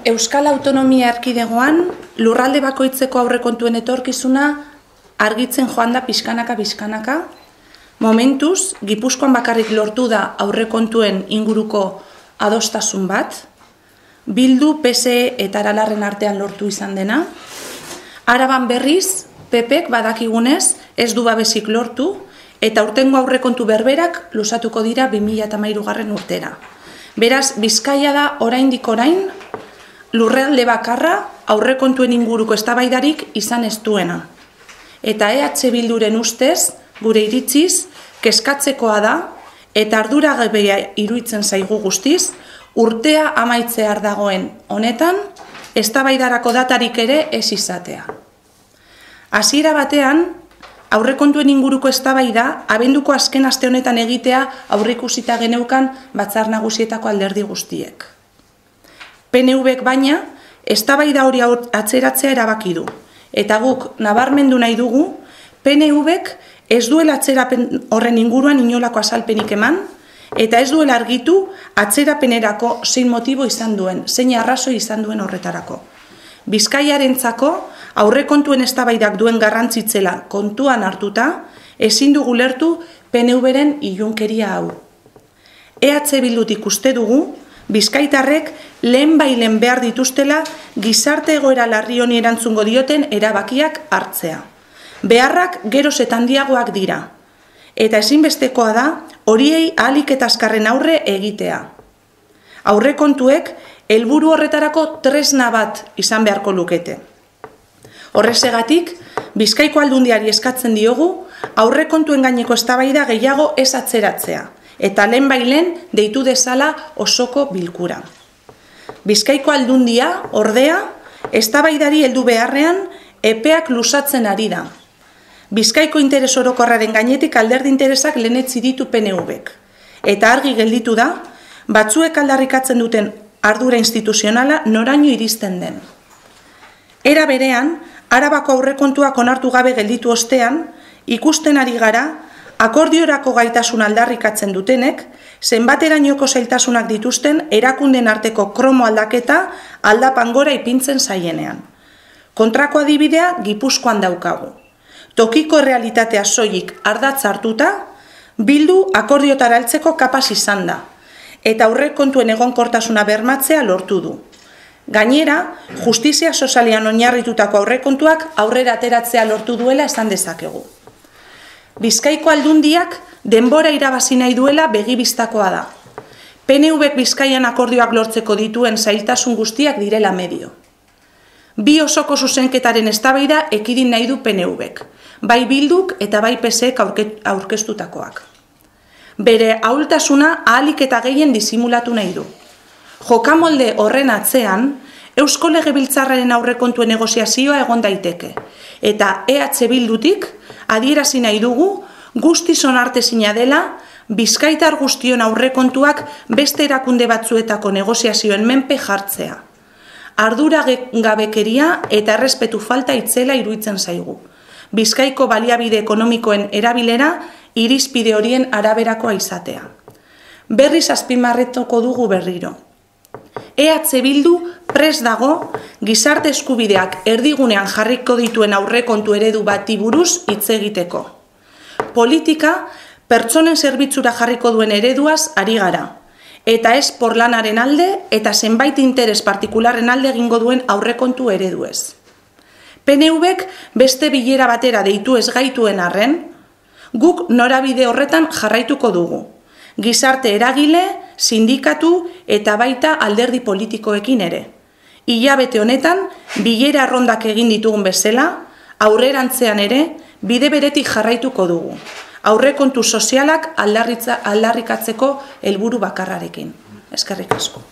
Euskal Autonomia Erkidegoan lurralde bakoitzeko aurrekontuen etorkizuna argitzen joan da pixkanaka. Momentuz, Gipuzkoan bakarrik lortu da aurrekontuen inguruko adostasun bat, Bildu, PSE eta Aralarren artean lortu izan dena. Araban berriz, PPek badakigunez ez du babesik lortu eta urtengo aurrekontu berberak luzatuko dira 2013 urtera. Beraz, Bizkaia da oraindik orain lurralde bakarra aurrekontuen inguruko eztabaidarik izan ez duena. Eta EH Bilduren ustez, gure iritziz, kezkatzekoa da eta arduragabea iruditzen zaigu guztiz, urtea amaitzear dagoen honetan, eztabaidarako datarik ere ez izatea. Hasiera batean, aurrekontuen inguruko eztabaida abenduko azken aste honetan egitea aurreikusita geneukan Batzar Nagusietako alderdi guztiek. PNVek baina, eztabaida hori atzeratzea erabaki du. Eta guk nabarmendu nahi dugu, PNVek ez duela atzerapen horren inguruan inolako azalpenik eman, eta ez duela argitu atzerapenerako zein motibo izan duen, zein arrazoi izan duen horretarako. Bizkaiarentzako aurrekontuen eztabaidak duen garrantzitzela kontuan hartuta, ezin dugu lertu PNVren ilunkeria hau. EH Bildutik uste dugu, bizkaitarrek lehenbailen behar dituztela gizarte egoera larri honi erantzungo dioten erabakiak hartzea. Beharrak geroz eta handiagoak dira, eta ezinbestekoa da horiei ahalik eta azkarren aurre egitea. Aurrekontuek helburu horretarako tresna bat izan beharko lukete. Horrexegatik, Bizkaiko Aldundiari eskatzen diogu aurrekontuen gaineko eztabaida gehiago ez atzeratzea, eta lehenbailen deitu dezala osoko bilkura. Bizkaiko Aldundia, ordea, eztabaidari heldu beharrean epeak luzatzen ari da. Bizkaiko interes orokorraren gainetik alderdi interesak lehenetzi ditu PNVek. Eta argi gelditu da, batzuek aldarrikatzen duten ardura instituzionala noraino iristen den. Era berean, Arabako aurrekontuak onartu gabe gelditu ostean, ikusten ari gara, akordiorako gaitasun aldarrikatzen dutenek, zenbaterainoko zailtasunak dituzten erakunden arteko kromo aldaketa aldapan gora ipintzen zaienean. Kontrako adibidea Gipuzkoan daukagu. Tokiko realitatea soilik ardatz hartuta, Bildu akordiotara heltzeko kapaz izan da, eta aurrekontuen egonkortasuna bermatzea lortu du. Gainera, justizia sozialean oinarritutako aurrekontuak aurrera ateratzea lortu duela esan dezakegu. Bizkaiko Aldundiak denbora irabazi nahi duela begibistakoa da. PNVek Bizkaian akordioak lortzeko dituen zailtasun guztiak direla medio. Bi osoko zuzenketaren eztabaida ekidin nahi du PNVek, bai Bilduk eta bai PSek aurkeztutakoak. Bere ahultasuna ahalik eta gehien disimulatu nahi du. Jokamolde horren atzean, Eusko Legebiltzarraren aurrekontuen negoziazioa egon daiteke, eta EH Bildutik adierazi nahi dugu guztiz onartezina dela bizkaitar guztion aurrekontuak beste erakunde batzuetako negoziazioen menpe jartzea. Arduragabekeria eta errespetu falta itzela iruditzen zaigu. Bizkaiko baliabide ekonomikoen erabilera irizpide horien araberakoa izatea. Berriz azpimarratuko dugu berriro. EH Bildu prest dago gizarte eskubideak erdigunean jarriko dituen aurrekontu eredu bati buruz hitz egiteko. Politika pertsonen zerbitzura jarriko duen ereduaz ari gara, eta ez porlanaren alde eta zenbait interes partikularren alde egingo duen aurrekontu ereduez. PNVek beste bilera batera deitu ez gaituen arren, guk norabide horretan jarraituko dugu. Gizarte eragile, sindikatu eta baita alderdi politikoekin ere. Hilabete honetan, bilera arrondak egin ditugun bezala, aurrerantzean ere, bide beretik jarraituko dugu. Aurrekontu sozialak aldarrikatzeko helburu bakarrarekin. Eskerrik asko.